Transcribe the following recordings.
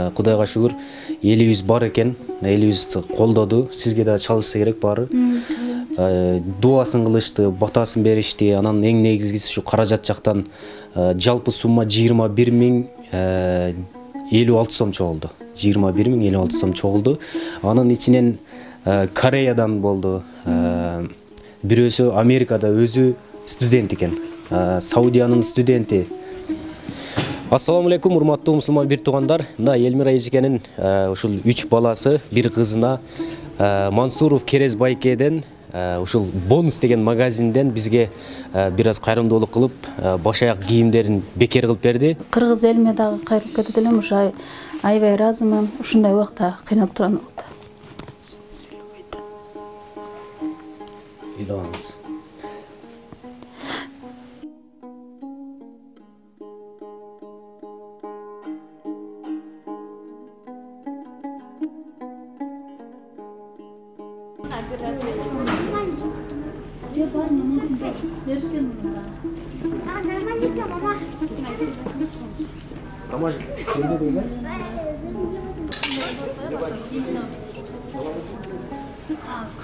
Кудайга шүгүр, элибиз бар экен, элибиз колдоду. Сизге да чалышса керек баары. Дуасын кылышты, батасын беришти. Анан эң негизгиси ушу каражат жактан жалпы сумма 21.056 сом чогулду. 21.056 сом чогулду. Анын ичинен Кореядан болду. Бирөөсү Америкада өзү студент экен. Саудиянын студенти. Ассаламу алейкум, урматтуу мусулман бир туугандар. Мына Элмира эжекенин ушул 3 баласы, бир кызына Мансуров Керез Байкеден ушул бонус деген магазинден бизге бир аз кайрымдуулук кылып, баш аяк кийимдерин бекер кылып берди. Кыргыз элиме дагы кайрылып кетет элем, ушу аябай ыраазымын. Ушундай убакта кыйналып турган убакта. Илабыз.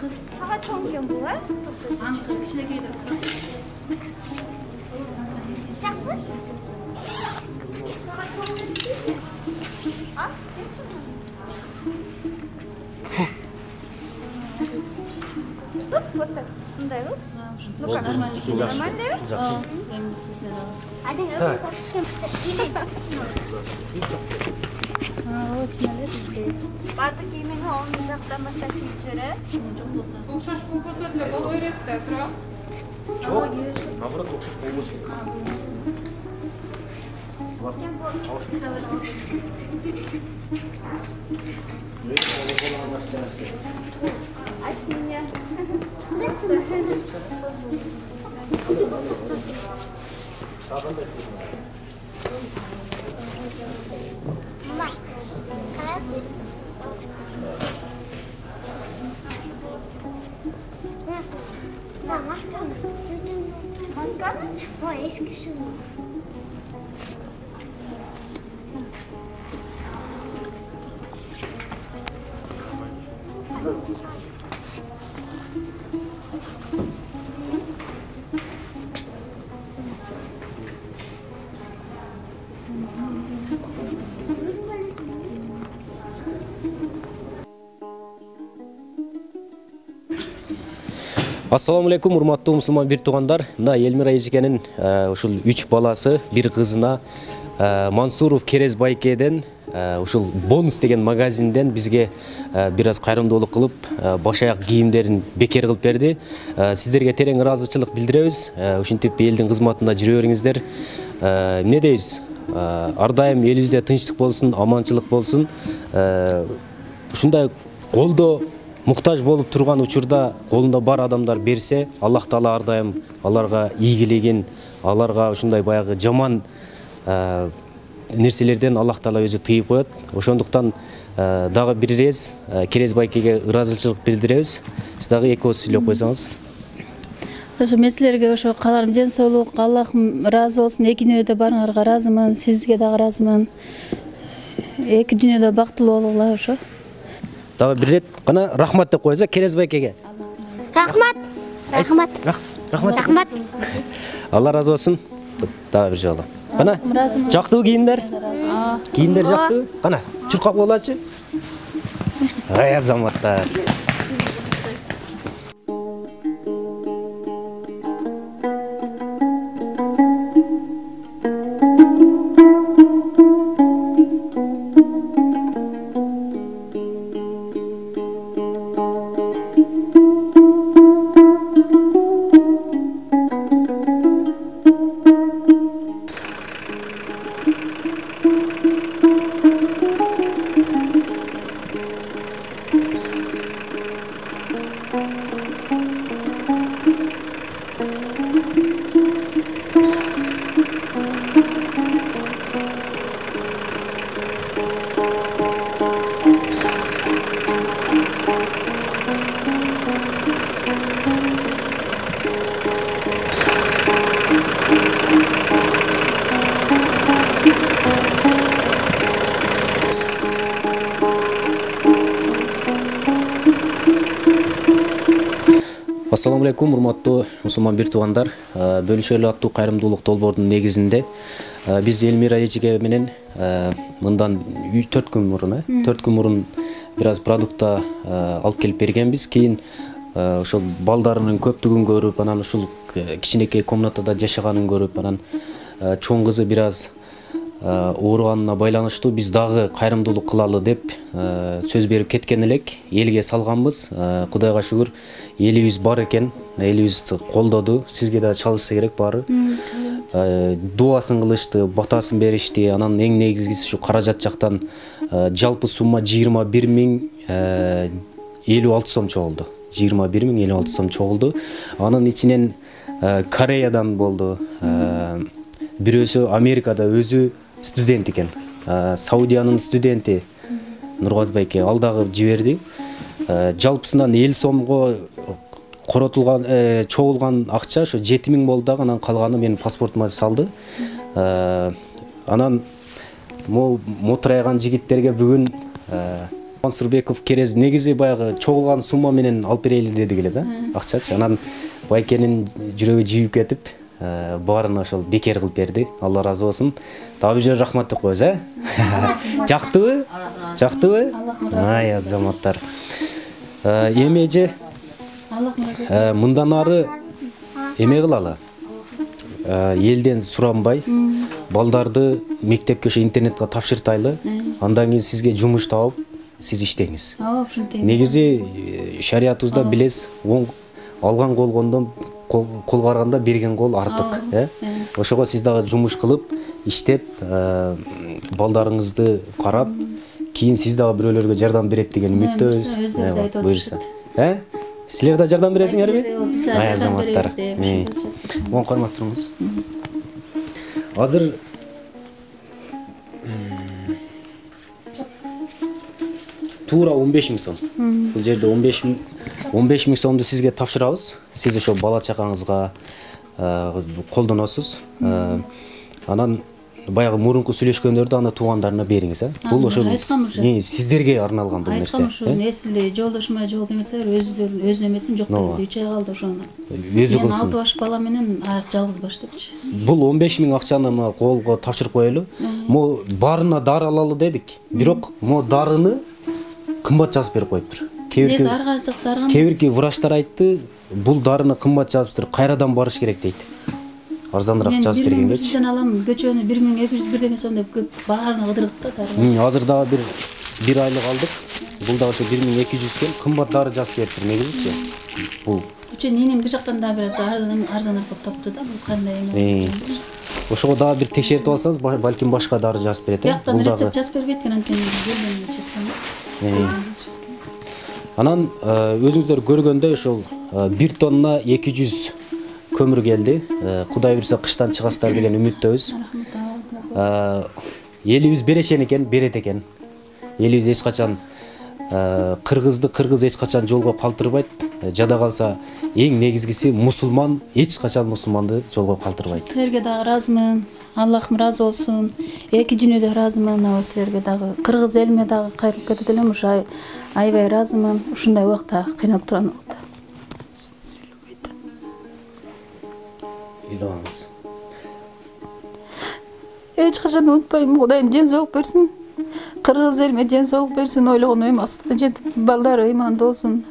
Kız hava çonken bu var. Ankara kişilerge gidip Sıcakmış. Вот так. Сындай ғой. Ну как? Нормально değil mi? Hadi öyle koşuşken очень лезет. Бардық киімің olmayacaktan başka kültürü. Окшош болбосо деле боло берет да, тура. Жок, наоборот, окшош болбош керек. Aç меня. Мама, карасч. Да, маска. Маска? Ой, eski şu. Ассаламу алейкум, урматтуу мусулман бир туугандар. Мына Элмира эжекенин ушул 3 баласы, бир кызына Мансуров Керез Байкеден ушул бонус деген магазинден бизге бир аз кайрымдуулук кылып, баш аяк кийимдерин бекер кылып берди. Сиздерге терең ыраазычылык билдиребиз. Ушинтип элдин кызматында жүрө бериңиздер. Эмне дейбиз? Ар дайым элибизде тынчтык болсун, аманчылык болсун. Ушундай колдо муктаж болуп турган учурда колунда бар адамдар берсе, Аллах Таала ар дайым аларга ийгилигин, аларга ушундай баягы жаман нерселерден Аллах Таала өзү тыйып коет. Ошондуктан дагы бир рез Керез Байкеге ыраазычылык билдиребиз. Сиз дагы эки ооз сүйлөп койсоңуз. Ошо мен силерге ошо каларым ден соолук, Аллахым ыраазы болсун. Эки дүйнөдө барыңарга ыраазымын, сизге дагы ыраазымын. Эки дүйнөдө бактылуу болгула ошо. Дагы бир рет кана рахмат деп койсо Керез Байкеге. Рахмат. Рахмат. Рахмат. Алла разы болсун. Дагы бир жолу. Кана жактуу кийимдер? Кийимдер жактуу? Кана чуркап болачы? Ай азаматтар. Ассаламу алейкум, урматтуу мусулман бир туугандар. Бөлүшөлү аттуу кайрымдуулук долбоордун негизинде биз Элмира эжеге менен мындан 4 күн мурун бир аз продукта алып келип бергенбиз. Кийин ошол балдарынын көптүгүн көрүп, анан ушул кичинекей комнатада жашаганын көрүп, анан чоң кызы бир аз ооруганына байланыштуу биз дагы кайрымдуулук кылалы деп сөз берип кеткен элек, элге салганбыз. Кудайга шүгүр, элибиз бар экен, элибиз колдоду. Сизге да чалышса керек баары. Дуасын кылышты, батасын беришти. Анан эң негизгиси ушу каражат жактан жалпы сумма 21.056 сом чогулду. 21.056 сом чогулду. Анын ичинен Кореядан болду. Бирөөсү Америкада өзү студент экен. Саудиянын студенти Нургазбайке ал дагы жиберди. Жалпысынан 50 сомго коротулган чогулган акча ошо 7000 болду дагы, анан калганы менин паспортума салды. Анан мотурайган жигиттерге бүгүн Мансурбеков Керез негизи баягы чогулган сумма менен алып берели дедик эле да, акчачы. Анан байкенин жүрөгү жийип кетип, баарын ошол бекер кылып берди. Алла ыраазы болсун. Дагы бир жолу рахмат деп коебуз, Жактыбы? Жактыбы? Ай азаматтар. Эми эже мындан ары эме кылалы. Элден суранбай, балдарды мектепке ошо интернетке тапшыртайлы. Андан кийин сизге жумуш таап, сиз иштеңиз. Ушинтип. Негизи шариятыбызда билесиз, алган колгондон кол карганда берген кол артык, Ошого сиз дагы жумуш кылып, иштеп, балдарыңызды карап, кийин сиз дагы бирөөлөргө жардам берет деген үмүттөбүз. Буюрса. Силер да жардам бересиңерби? Ай азаматтар. Оң кармап туруңуз. Азыр туура 15 000 сом. Бул жерде 15 000 сомду сизге тапшырабыз. Сиз ошо бала чакаңызга колдоносуз. Анан баягы мурунку сүйлөшкөндөрдү аны туугандарына бериңиз, Бул ошо сиздерге арналган бул нерсе. Ушул эсили жолдошума жол деметсер, өзүнүн эмесин жок деп 3 ай калды ошону. Өзү кылсын. 6 баш бала менен жалгыз баш депчи. Бул 15 000 акчаны колго тапшырып коелу. Мо баарына дары алалы дедик. Бирок мо дарыны кымбат жазып берип коюптур. Кебирки врачтар айтты, бул дарыны кымбат жазыптыр, кайрадан барыш керек дейт. Арзаныраак жазып бергенгечи. Мен 1.100 алам, көчөнү 1200 бирдеме сом деп көп баарына кыдырдык да дары. Азыр дагы бир айлык алдык. Бул дагы ошо 1200 кен, кымбат дары жазып бериптир негизичи. Бул Үчүн ненин бир жактан дагы бир аз арзаныраак болуп таптı да, бул кандай эме. Ошого дагы бир текшертип алсаңыз, балким башка дары жазып берет. Бул дагы рецепт жазып бербейт экен, анткени жерден чыккан. Анан өзүңүздөр көргөндөй ошол 1 тонна 200 көмүр келди. Кудай буйрса кыштан чыгасыздар деген үмүттөбүз. Элибиз берешен экен, берет экен. Элибиз эч качан кыргыз эч качан жолго калтырбайт. Жада калса эң негизгиси мусулман эч качан мусулманды жолго калтырбайт. Силерге дагы ыраазымын. Аллахым ыраазы болсун. Эки дүйнөдө ыраазымын. Силерге дагы кыргыз элиме дагы кайрылып кетет элем. Ошо аябай ыраазымын. Ушундай убакта кыйналып турган убакта. Үйлөңүз. Эч качан унутпайм. Кудайым ден соолук берсин. Кыргыз элиме ден соолук берсин. Ойлогон оюм астына жетип, балдары ыймандуу болсун.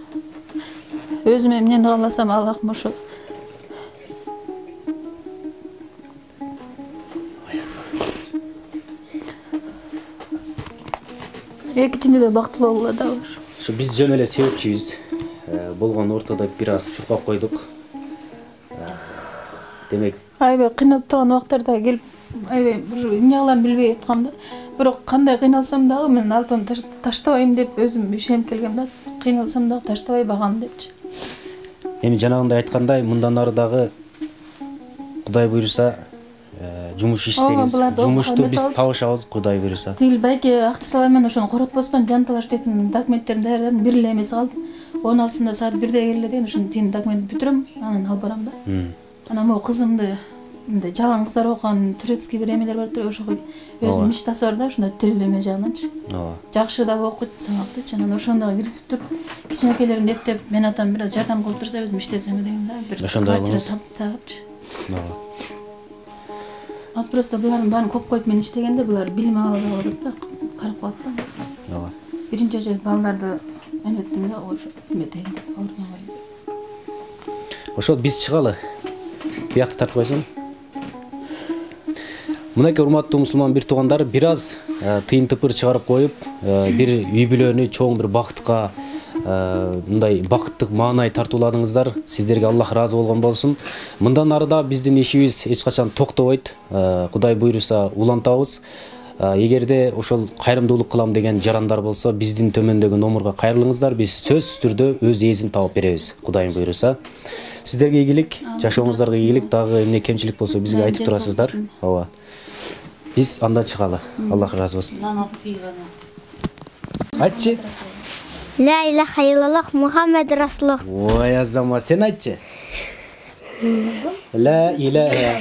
Өзүм эмнени кааласам Аллахым ошо. Эки дүйнөдө бактылуу болгула да бар. Ошо биз жөн эле себепчибиз. Болгон ортодо бир аз чуркап койдук. Демек, Аябай кыйналып турган убактарда келип, аябай ушу эмне кыларын билбей аткам да. Бирок кандай кыйналсам дагы мен алтын таштабайм деп өзүм ишенип келгем да. Кыйналсам дагы таштабай багам депчи. Эми жанагындай айткандай, мындан ары дагы Кудай буйрса жумуш иштеңиз. Жумушту биз табышабыз, Кудай буйрса. Тигил байке акча салам мен ошону коротпостон жан талаш дейтин документтерин даярдадым. Бир эле эмеси калды. 16-сында саат 1-де келе деген ошону тигин документти бүтүрөм, анан алып барам да. Анан могу кызымды мындай жалаң кыздар окуган турецкий бир эмелер бар да, ошого өзүнүн мечтасы бар да, ушундай тирилеме жагынанчы. ооба. Жакшы да окуйт, сабактычы. Анан ошондого киргизип туруп, кичинекейлеримди эптеп, мен атам бир аз жардам кылып турса, өзүм иштесем деген да, бир Ошондой квартира кылыңыз. тагыпчы. Ооба. Азыр просто булардын баарын коп коюп мен иштегенде булар билим ала албай калат да, карап калат да. Ооба. Биринчи очередь балдарды эметтим да, ошо эметейин деп, оорунбай. Ошол биз чыгалы. Биякты тартып койсуң. Мынакей урматтуу мусулман бир туугандар, бир аз тыйын тыпыр чыгарып коюп, бир үй бүлөнү чоң бир бакытка, мындай бакыттык маанай тартууладыңыздар. Сиздерге Аллах ыраазы болгон болсун. Мындан ары да биздин ишибиз эч качан токтобойт. Кудай буйруса улантабыз. Эгерде ошол кайрымдуулук кылам деген жарандар болсо, биздин төмөндөгү номурга кайрылыңыздар. Биз сөзсүз түрдө өз ээсин таап беребиз, Кудайым буйруса. Сиздерге ийгилик, жашооңуздарга ийгилик, дагы эмне кемчилик болсо бизге айтып турасыздар. Ооба. Биз анда чыгалы. Аллах ыраазы болсун. Айтчы. Ла илаха иллаллах Мухаммад Расулуллах. Ой, Азамат, сен айтчы. Ла илаха.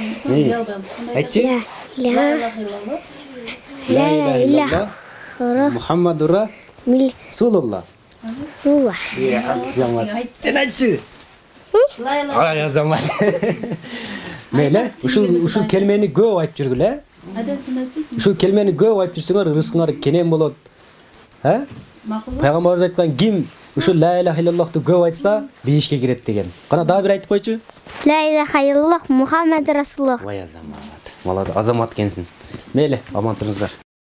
Айтчы. Ла Ла илаха иллаллах Мухаммадур Расулуллах. Азамат, сен айтчы. Ой, Азамат. Мейле, ушул келмени көп айтып жүргүл, э? Ушул келмени көп айтып жүрсөңөр, рызкыңар кенен болот. Пайгамбарыбыз айткан, ким ушул ла илаха иллаллахты көп айтса, бейишке кирет деген. Кана дагы бир айтып койчу. Ла илаха иллаллах Мухаммад Расулуллах. Ой, Азамат. Молодец, Азамат экенсиң. Мейле, аман туруңуздар.